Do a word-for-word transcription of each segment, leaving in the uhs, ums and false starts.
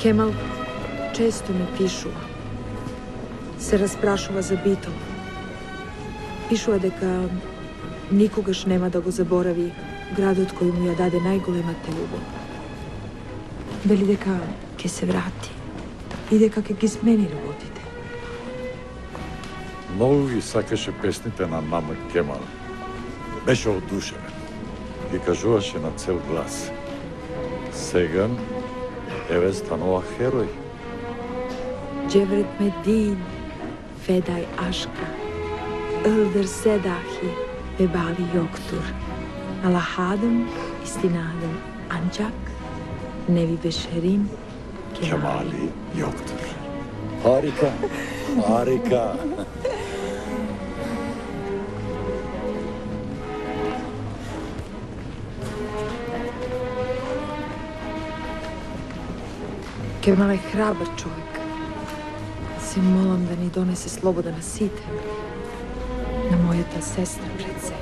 Кемал често ми пишува. Се распрашува за битол. Пишува дека никогаш нема да го заборави градот кој му ја даде најголемата љубов. Вели дека ќе се врати и дека ќе ги смени работите. Многу ги сакаше песните на мама Кемал. Беше одушевен. Ги кажуваше на цел глас. Сега еве станува херој. Джеврет Медин, Федај Ашка, Ылдыр Седахи, Бебали Йоктур, Алахадым, Истинадым, Анчак, Неви Бешерин, Кемали Йоктур. Harika, harika. Кемал е храбар човек. Се молам да ни донесе слобода на сите. На мојата сестра пред се.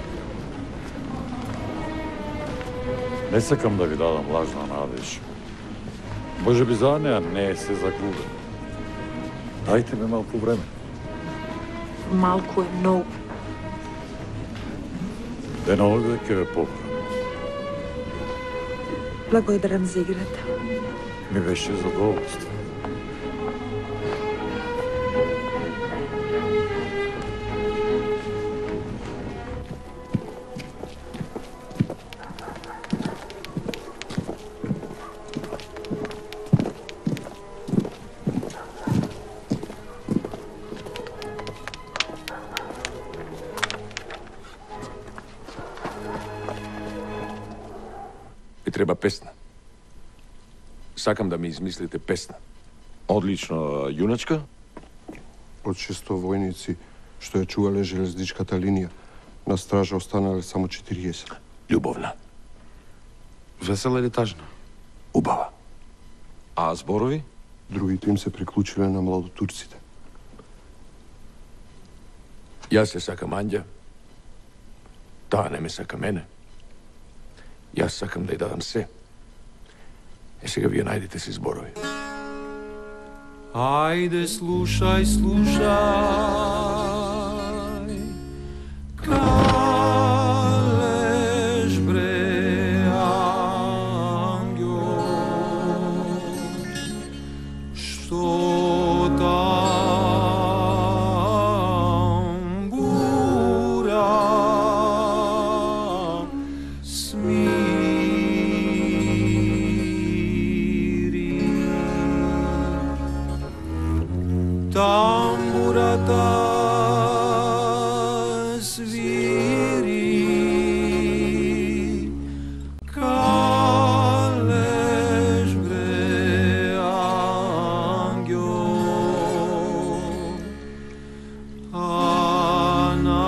Не сакам да ви дадам лажна надеж. Може би за неа не се загубен. Дайте ми малку време. Малку е многу. Денове ќе ве поправам. Благодарам за играта. Ми беше задоволство. Ви треба песна. Сакам да ми измислите песна. Одлично, јуначка? Од шесто војници што ја чувале железничката линија, на стража останале само четириесет. Љубовна. Весела или тажна? Убава. А зборови? Другите им се приклучиле на младотурците. Јас се сакам Анѓа. Таа не ме сака мене. Јас сакам да ја дадам се. Е, сега вие најдете си зборови. Ајде, слушај, слушај, калеш бре ангјо, што тамбура тамбурата свири, калеш бре ангјо, ана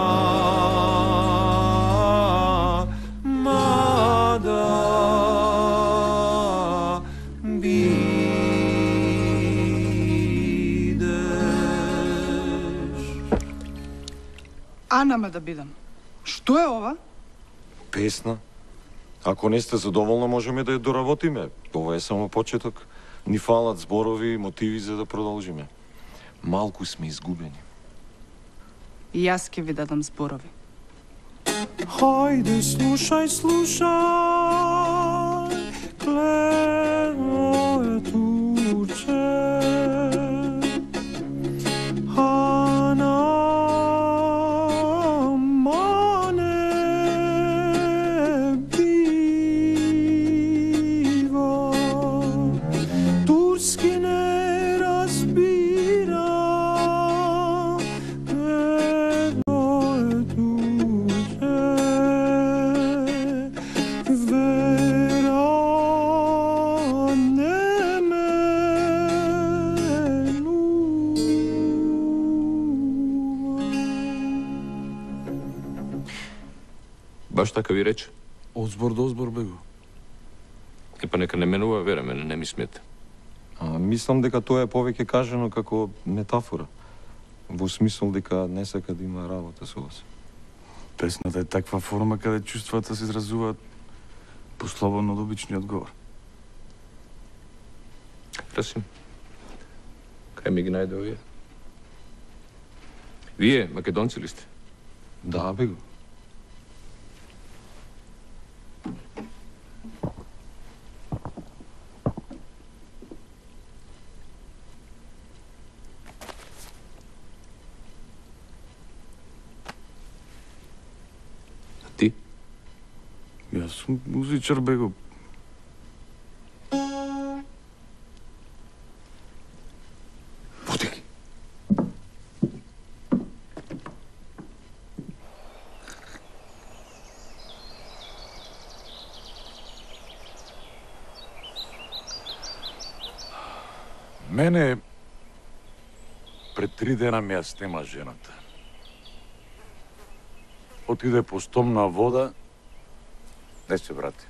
мада Анама да бидам. Што е ова? Песна. Ако не сте задоволна, можеме да ја доработиме. Ова е само почеток. Ни фалат зборови и мотиви за да продолжиме. Малку сме изгубени. И јас ќе ви дадам зборови. Хајде, слушај, слушај, клево е турче, ана Баш така ви рече. Од збор до збор бего. Е, па нека не менува вера, мене не ми смета. А, мислам дека тоа е повеќе кажано како метафора. Во смисол дека не сака да има работа со вас. Песната е таква форма каде чувствата се изразуваат послободно од обичниот говор. Расим, кај ми ги најде овие? Вие, македонци ли сте? Да, бе го. Ти? Јас сум музичар, бе го. Води ги. Мене пред три дена ми ја снема жената. Отиде по стомна вода, не се врати.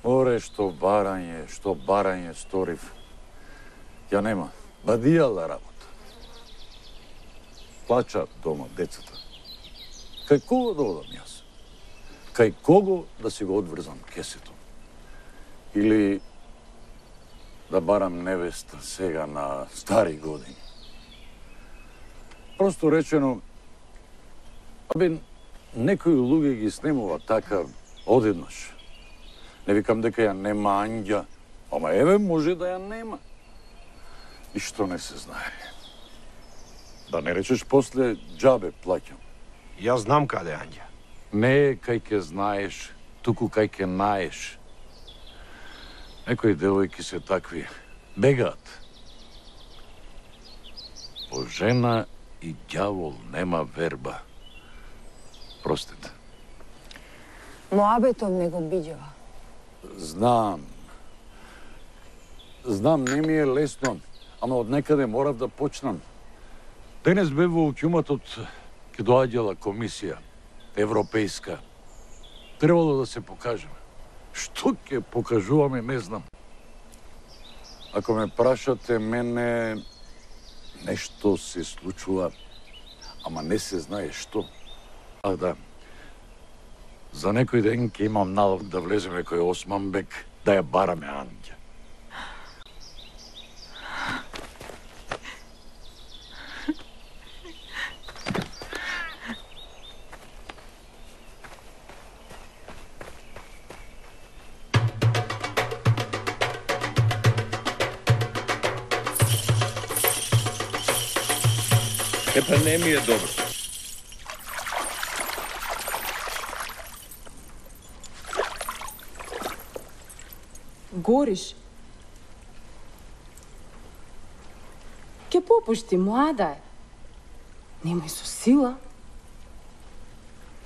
Оре, што барање, што барање сторив. Ја нема, бадијала работа. Плача дома децата. Кај кого да одам јас? Кај кого да си го одврзам кесето? Или да барам невеста сега на стари години? Просто речено, абе, некои луѓе ги снемува така одеднаш. Не викам дека ја нема Анѓа, ама еве може да ја нема. И што не се знае. Да не речеш после џабе плаќам. Јас знам каде е Анѓа. Не е кај ке знаеш, туку кај ке наеш. Некои девојки се такви, бегаат. По жена и ѓавол нема верба. Простете. Моабетом не го биѓава. Знам. Знам, не ми е лесно, ама од некаде морав да почнам. Денес бе во ќуматот ке доаѓала комисија, европејска. Требало да се покажеме. Што ќе покажуваме, не знам. Ако ме прашате, мене нешто се случува, ама не се знае што. А да, за некој ден ќе имам налог да влеземе кој Османбек, да ја бараме Анѓа. Е, па не ми е добро. Гориш. Ке попушти, млада е. Немај со сила.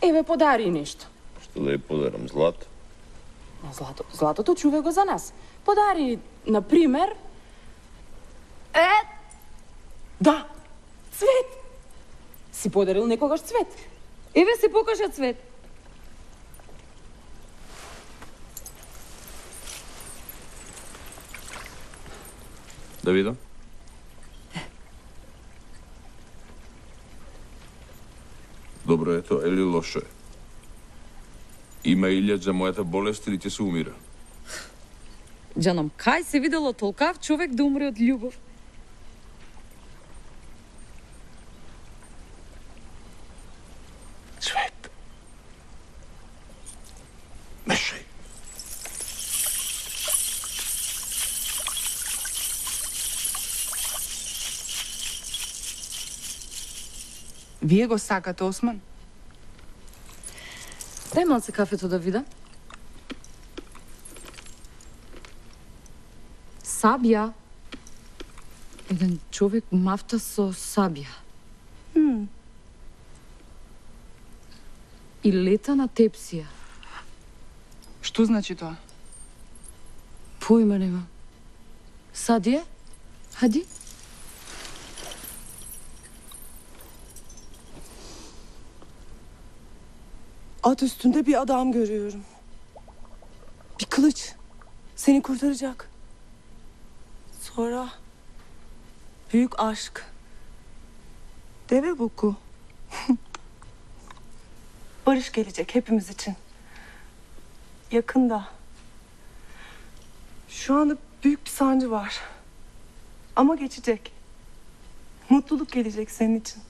Еве, подари нешто. Што да ја подарам, злато? На злато, златото чуве го за нас. Подари, например... Е! Да, цвет! Си подарил некогаш цвет. Еве се покажа цвет. Да видам. Добро е тоа или лошо е? Има илјад за мојата болест или ќе се умира? Џаном, кај се видело толкав човек да умре од љубов? Цвет. Мешај. Вие го сакате, Осман? Дај малце кафето да видам. Сабија. Еден човек мафта со сабија. М. И лета на тепсија. Што значи тоа? Појма нема. Садија? Хади? At üstünde bir adam görüyorum. Bir kılıç. Seni kurtaracak. sonra büyük aşk. Deve buku. Barış gelecek hepimiz için. Yakında. Şu anda büyük bir sancı var. Ama geçecek. Mutluluk gelecek senin için.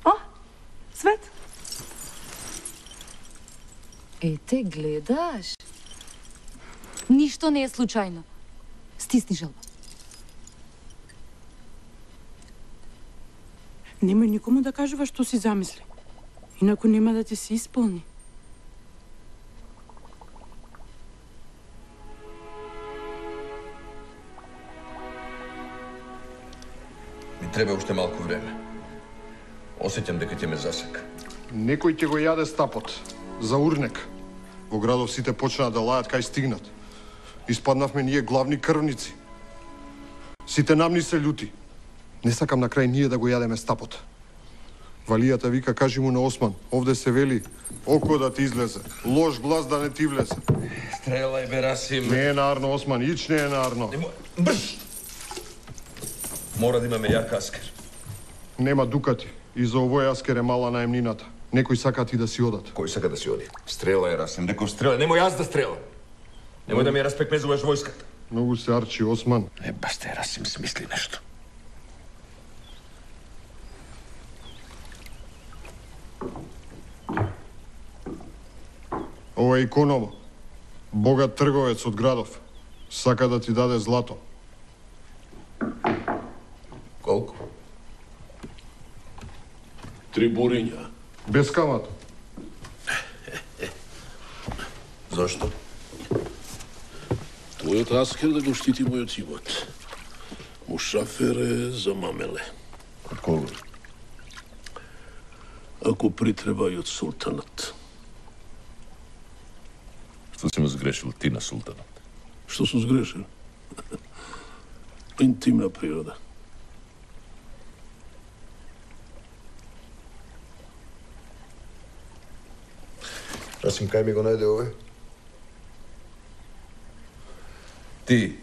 Ah, Svet. Ете, гледаш? Ништо не е случајно. Стисни желба. Немој никому да кажува што си замисли. Инаку нема да ти се исполни. Ми треба уште малку време. Осеќам дека ќе ме засека. Некој ќе го јаде стапот. За урнек. Во градов сите почнаа да лајат кај стигнат. Испаднавме ние главни крвници. Сите нам ни се љути. Не сакам на крај ние да го јадеме стапот. Валијата вика, кажи му на Осман, овде се вели, око да ти излезе, лош глас да не ти влезе. Стрелај, бе, Расим. Не е нарно, Осман, ич не е нарно. Брш! Мора да имаме јак аскер. Нема дукати. И за овој аскер е мала наемнината. Некој сака ти да си одат. Кој сака да си оди? Стрелај, Расим, дека стрелај. Немој јас да стрелам. Немој да ми ја распекмезуваш војската. Многу се арчи, Осман. Е, баш те, Расим, смисли нешто. Ова е Икономо. Богат трговец од градов. Сака да ти даде злато. Колку? Три буриња. Без камата. Зошто? Твојот аскер да го штити мојот имот. Мушафер е за мамеле. Од кого? Ако притреба и од султанат. Што си му сгрешил ти на султанат? Што сум сгрешил? Интимна природа. Расим, кај ми го најде ове? Ти,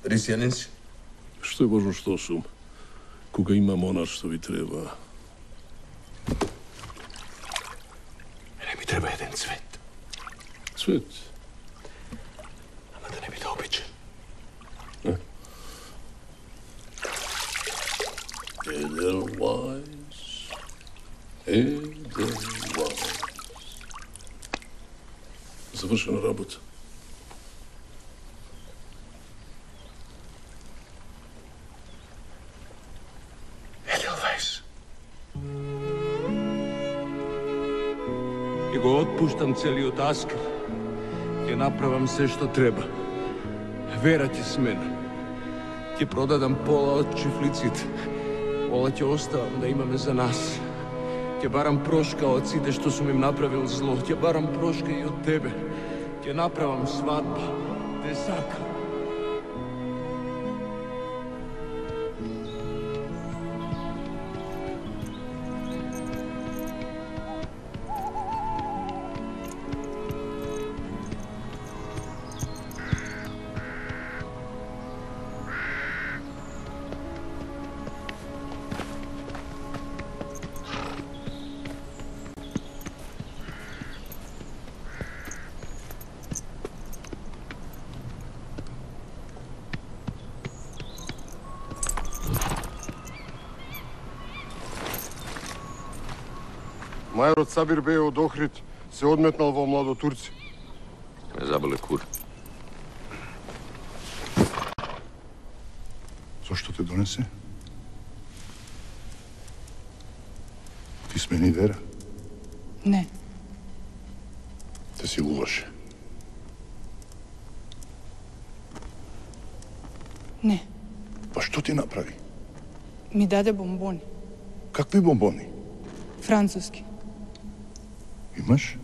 рисијанин си? Што е важно што сум? Кога имам она што ви треба. Не ми треба еден цвет. Цвет? Ама да не биде обичен. Edelweiss. Edelweiss. Завршена работа. Edelweiss. Ќе го отпуштам целиот аскер. Ќе направам се што треба. Вера ќе смена. Ќе продадам пола од чифлиците. Пола ќе оставам да имаме за нас. Ќе барам прошка од сите што сум им направил зло. Ќе барам прошка и од тебе. Ќе направам свадба. Те сакам. Мајорот Сабир беј од Охрид се одметнал во младотурци. Ме заболе кур. Зошто те донесе? Ти смени Вера? Не. Те силуваше? Не. Па што ти направи? Ми даде бомбони. Какви бомбони? Француски. Имаш?